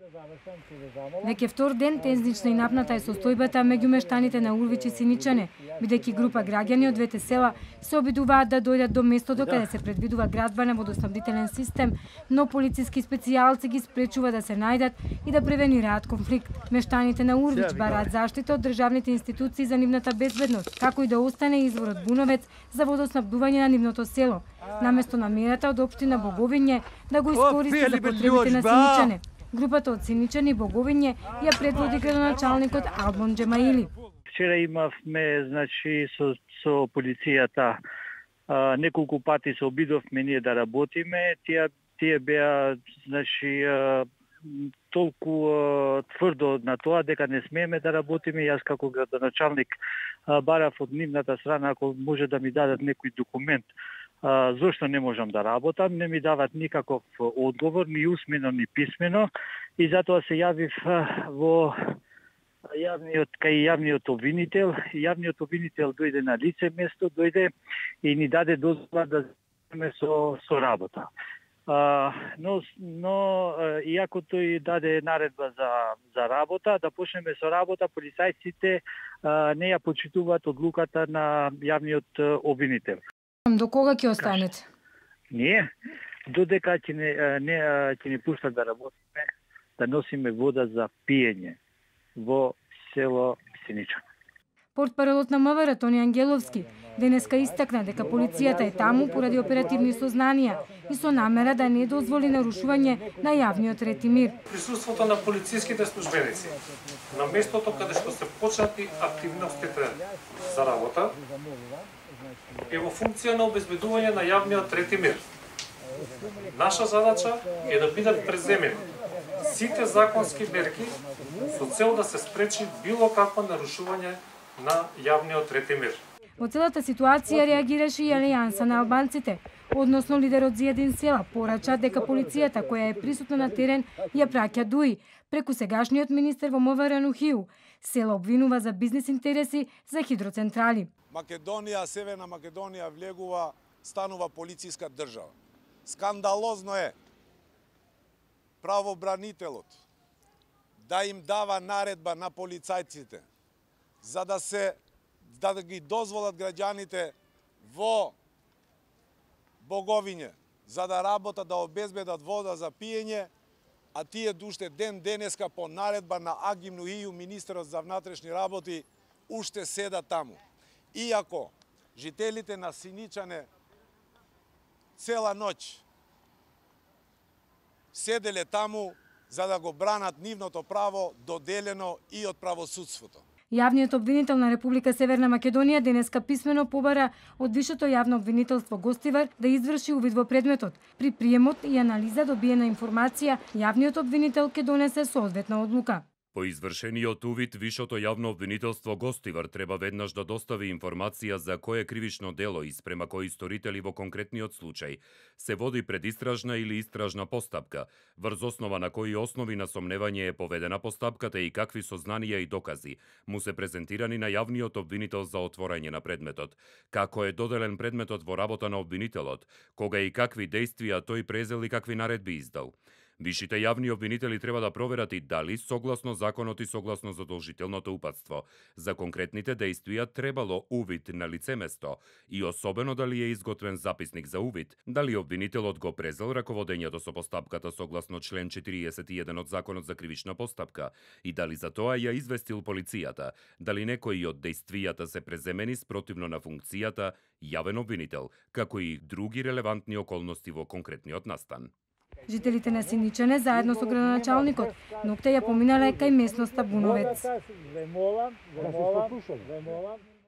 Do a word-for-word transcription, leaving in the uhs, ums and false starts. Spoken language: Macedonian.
Веќе втор ден тензична и напната е состојбата меѓу мештаните на Урвич и Синичане, бидејќи група граѓани од двете села се обидуваат да дојдат до местото каде се предвидува градба на водоснабдителен систем, но полициски специјалци ги спречува да се најдат и да превенираат конфликт. Мештаните на Урвич бараат заштита од државните институции за нивната безбедност, како и да остане изворот Буновец за водоснабдување на нивното село, наместо намерата од општина Боговиње да го искористи за потребите на Синичане. Групата од Синичани и Боговиње ја предводи градоначалникот Албон Джемаили. Вчера имавме, значи, со, со полицијата а, неколку пати се обидовме ние да работиме. Тие тие беа, значи, а, толку а, тврдо на тоа дека не смееме да работиме. Јас како градоначалник а, барав од нивната страна ако може да ми дадат некој документ а, зошто не можам да работам. Не ми дават никаков одговор, ни усмено, ни писмено, и затоа се јавив а, во јавниот кај јавниот обвинител. Јавниот обвинител дојде на лице место, дојде и ни даде дозвола да земеме со со работа. А, но но иако тој даде наредба за за работа, да почнеме со работа, полицајците а, не ја почитуваат одлуката на јавниот обвинител. До кога ќе останете? Ние додека ќе не не ќе ни пуштат да работиме, да носиме вода за пиење во село Синичан. Портпаролот на МВР Тони Ангеловски денеска истакна дека полицијата е таму поради оперативни сознанија и со намера да не дозволи нарушување на јавниот ред и мир. Присуството на полициските службеници на местото каде што се почнати активностите за работа е во функција на обезбедување на јавниот ред и мир. Наша задача е да бидат преземени сите законски мерки со цел да се спречи било какво нарушување на јавниот ред и мир. Во целата ситуација реагираше и Алијанса на албанците, односно лидерот Зијадин Села порача дека полицијата која е присутна на терен ја праќа дуи преку сегашниот министер во МВР Нухију. Села обвинува за бизнис интереси за хидроцентрали. Македонија, Северна Македонија влегува, станува полициска држава. Скандалозно е правобранителот да им дава наредба на полицајците за да се да ги дозволат граѓаните во Боговиње за да работат, да обезбедат вода за пиење, а тие душте ден денеска по наредба на Агим Нухију, министерот за внатрешни работи, уште седат таму. Иако жителите на Синичане цела ноќ седеле таму за да го бранат нивното право доделено и од правосудството. Јавниот обвинител на Република Северна Македонија денеска писмено побара од Вишето јавно обвинителство Гостивар да изврши увид во предметот. При приемот и анализа добиена информација, јавниот обвинител ќе донесе соодветна одлука. По извршениот увид, Вишото јавно обвинителство Гостивар треба веднаш да достави информација за кое кривично дело и спрема кои сторители во конкретниот случај се води предистражна или истражна постапка, врз основа на кои основи на сомневање е поведена постапката и какви сознанија и докази му се презентирани на јавниот обвинител за отворање на предметот, како е доделен предметот во работа на обвинителот, кога и какви дејствија тој презел и какви наредби издал. Вишите јавни обвинители треба да проверат и дали, согласно законот и согласно задолжителното упатство, за конкретните дејствија требало увид на лицеместо и особено дали е изготвен записник за увид, дали обвинителот го презел раководењето со постапката согласно член четириесет и еден од Законот за кривична постапка и дали за тоа ја известил полицијата, дали некои од дејствијата се преземени спротивно на функцијата јавен обвинител, како и други релевантни околности во конкретниот настан. Жителите на Синичане заедно со градоначалникот ноќта ја поминале кај местноста Буновец.